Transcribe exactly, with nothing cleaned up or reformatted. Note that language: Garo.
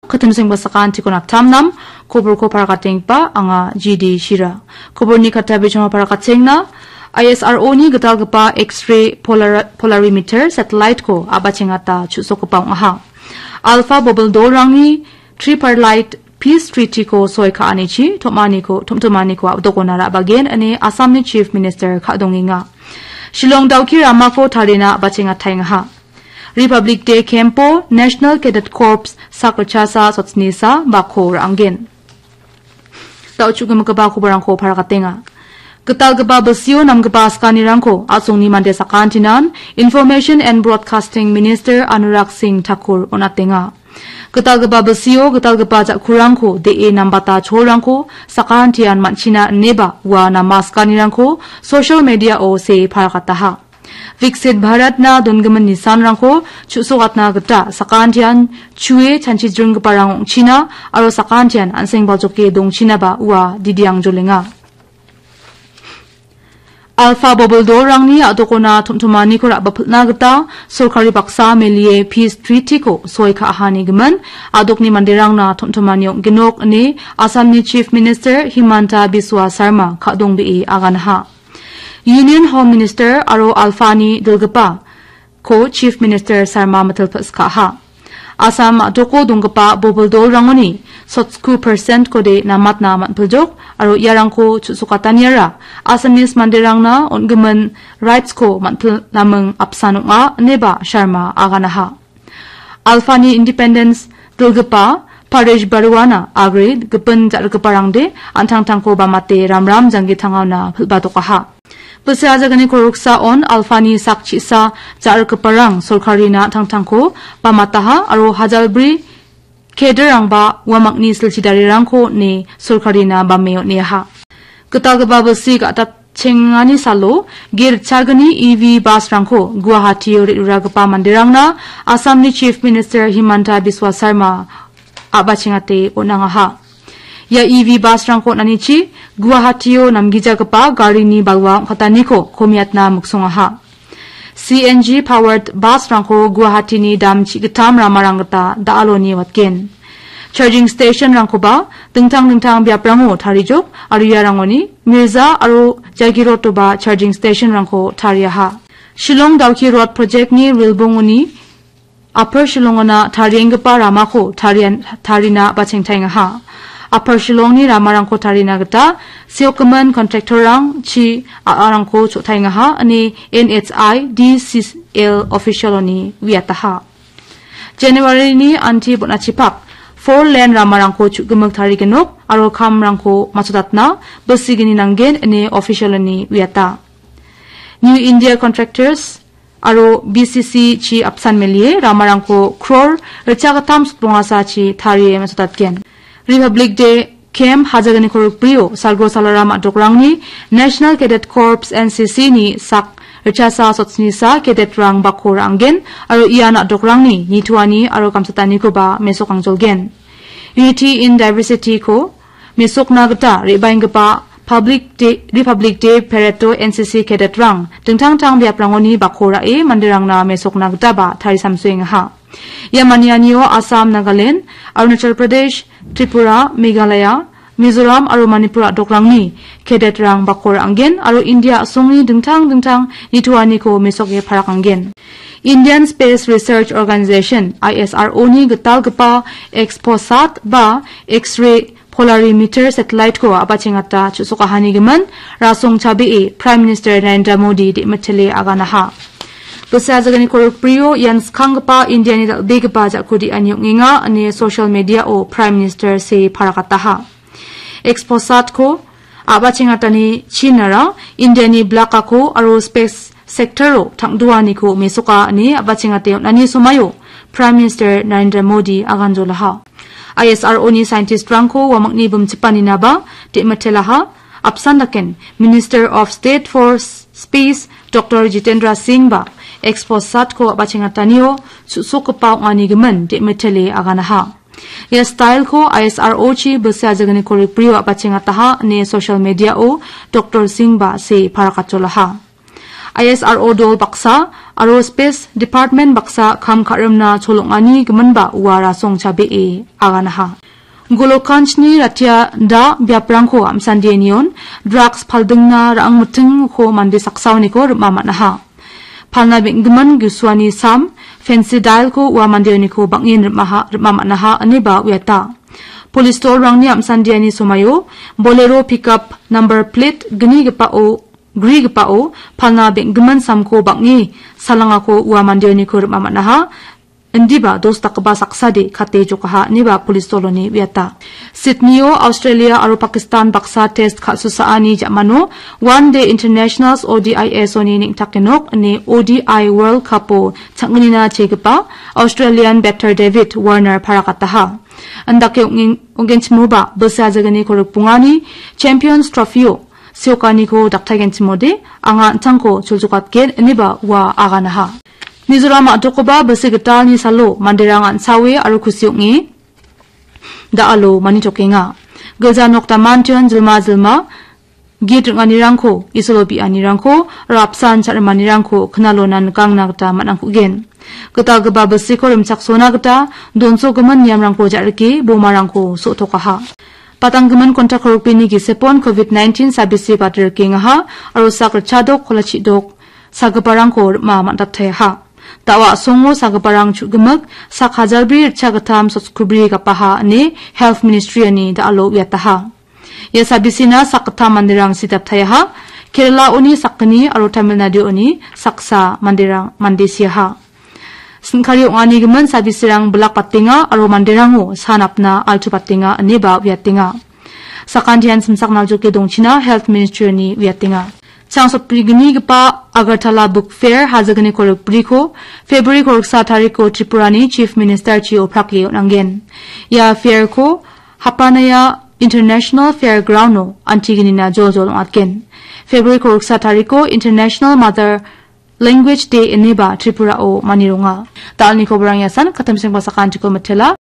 Katim sengba sakantiko naptam nam, koborko parakatengpa anga G D Shira. Koborni kata bijoma parakatengna, I S R O ni gitalgipa X-ray polar-, polarimeter satellite-ko abachengata chu·sokgipa ong·aha. Alpha Bobble dolrangni Tripartite Peace Treaty-ko soi ka·anichi tom·aniko, tom·tomaniko a·dokona ra·bagen ine Assamni Chief Minister ka·dongenga. Shillong Dawki ramako tarina abachengataengaha. Republic Day camp-o National Cadet Corps sak ritchasa sotsnisa bako ra·angen. Da·o chu·gimigipa koborangko parakatenga. Gitalgipa bilsio namgipa askanirangko a·songni mande sakantinan Information and Broadcasting Minister Anurag Singh Thakur on·atenga. Gitalgipa bilsio gitalgipa ja·kurangko de·e nambata cholrangko sakantian man·china ineba ua nama askanirangko social media-o see parakataha. Viksit Bharatna dongimin nisanrangko chu·sokatna gita sakantian chue chanchijringgiparang ong·china aro sakantian an·seng baljoke dongchinaba ua didiang jolenga. Alpha Bobble dolrangni a·dokona tom·tomaniko ra·bapilna gita sorkari baksa melie Peace Treaty-ko soi ka·ahani gimin a·dokni manderangna tom·tomani ong·genok ine Assamni Chief Minister Himanta Biswa Sarma ka·dongbee aganaha. Union Home Minister aro Alphani dilgipa ko Chief Minister Sarma mitil pil·skaha. Assam a·doko donggipa Bobble dolrangoni sotsku percent-kode namatna man·piljok aro iarangko chu·sokataniara Assamese manderangna on·gimin rights-ko man·pil naming apsan ong·a ineba Sharma aganaha. Alphani Independence dilgipa Paresh Baruana agre gipin ja·rikgiparangde an·tangtangko bamate ramram janggi tangaona pil·batokaha. Bilsi ajagani koroksaon Alphani sak chisa ja·rikgiparang sorkarina an·tangtangko bamataha aro hajalbri kedirangba uamangni silchi darirangko ne sorkarina bame on·eaha. Gitalgipa bilsi ga·dap chengani salo, ge ritchagni E V bus-rangko Guwahati-o re·ruragipa manderangna Assamni Chief Minister Himanta Biswa Sarma a·bachengate on·angaha. Ia E V bus-rangko on·anichi Guwahati-o namgijagipa garini balwa ong·kataniko komiatna miksongaha. C N G powered bus-rangko Guwahati-ni dam chi·gittam ramarang gita da·aloni watgen. Charging station-rangkoba dingtang dingtang biaprango tarijok aro iarangoni Mirza aro Jagirotoba charging station-rangko tariaha. Shillong Dawki Road project-ni rilbongoni Upper Shillong-ona tarienggipa ramako tarian-, tarina bachengtaengaha. Upper Shillong-ni ramarangko tarina gita seokgimin contractor-rang chi a·arangko cho·taengaha ine N H I D C L official-oni uiataha. January-ni anti bon·achipak four lane ramarangko chu·gimik tarigenok aro kamrangko matchotatna bilsigni nanggen ine official-oni uiata. New India Contractors aro B C C chi apsan melie ramarangko crore ritchagittam sotbongasachi tarie matchotatgen. Republic Day Camp hajagni korokbrio Salgro Salaram a·dokrangni National Cadet Corps, N C C-ni sak ritchasa sotsnisa cadet-rang bako ra·angen aro ian a·dokrangni nitoani aro gamsatanikoba mesok angjolgen. Unity in Diversity-ko mesokna gita re·baenggipa Public Day, Republic Day Parade-o N C C cadet-rang dingtang tang biaprangoni bako ra·e manderangna mesokna gitaba tarisamsoengaha. Ia manianio Assam, Nagaland, Arunachal Pradesh, Tripura, Meghalaya, Mizoram aro Manipur a·dokrangni cadet-rang bako ra·angen aro India a·songni dingtang dingtang nitoaniko mesoke parakanggen. Indian Space Research Organization, I S R O-ni gitalgipa Exposat ba X-ray polarimeter satellite-ko a·bachengata chu·sokahanigimin rasong chabee Prime Minister Narendra Modi de·mitele aganaha. Bilsi ajagni korokbrio ian skanggipa Indiani dal·begipa ja·kode ani ong·enga ine social media-o Prime Minister see parakataha. Exposat-ko a·bachengatani chinara Indiani blakako aro space sector-o tangdoaniko mesoka ine a·bachengate on·ani somaio Prime Minister Narendra Modi aganjolaha. I S R O-ni scientist-rangko uamangni bimchipaninaba de·mitelaha. Apsan daken Minister of State for S-, Space Doctor Jitendra Singh ba Exposat-ko a·bachengatanio chu·sokgipa ong·anigimin de·mitele aganaha. Ia style-ko I S R O-chi bilsi ajagni korokbrio a·bachengataha ine social media-o Doctor Singh ba see parakatjolaha. I S R O dol baksa aro Space Department baksa kam ka·rimna cholongani giminba ua rasong chabee aganaha. Golokanchni ratia da biaprangko amsandianion drugs paldingna ra·angmitingko mande saksaoniko rim·a man·aha. Palna beng·gimin gusuani sam, fentanyl-ko ua mandeoniko bang·en rim·aha, rim·a man·aha, ineba uiata. Polis dolrangni amsandiani somaio Bolero pickup number plate gnigipao, grigipao palna beng·gimin samko bang·e salangako ua mandeoniko rim·a man·aha. Indiba dos dakgipa saksade kate jokaha, ineba polis doloni uiata. Sydney-o Australia aro Pakistan baksa test ka·susaani ja·mano One Day Internationals O D I S-oni neng·take nok ine O D I World Cup-o chang·gnina chegipa Australian batter David Warner parakataha. Indake ong·gen-, ong·genchimoba bilsa jaganiko rikbongani Champions Trophy-o seokaniko daktagenchimode anga an·tangko choljokatgen, ineba ua aganaha. Mizoram a·dokoba bilsi gitalni salo manderang an·sawe aro kusi ong·e da·alo manijokenga. Gilja nok damantion jilma jilma git ring·anirangko, Isolo bi·anirangko, aro apsan cha·rimanirangko knalona nikangna gita man·angkugen. Gitalgipa bilsiko rimchaksona gita donsogimin niamrangko ja·rike bomarangko so·tokaha. Patanggimin kontak rokbini gisepon covid nineteen sabisi batrikengaha aro sak ritchadok, kolachidok sagiparangko rim·a man·dataiaha. Da·o a·songo sagiparang chu·gimik sak hajalbri ritchagittam sotskubri gapaha ine Health Ministry-ani da·alo uiataha. Ia sabisina sakgittam manderang sidaptaiaha. Kerala-oni sakgni aro Tamil Nadu-oni saksa manderang mande siaha. Sin·kari ong·anigimin sabisirang bilak batenga aro manderango san apna altu batenga ineba uiatenga. Sakantian simsak naljoke dongchina Health Ministry-ni uiatenga. Changsotbrignigipa Agartala Book Fair hajagniko rikbriko February koriksa tariko Tripurani Chief Minister-chi oprake on·angen. Ia fair-ko Hapanaya International Fairground-o antigenina joljol ong·atgen. February koriksa tariko International Mother Language Day ineba Tripura-o manironga. Da·alni koborang iasan, katamsengba sakantiko mitela.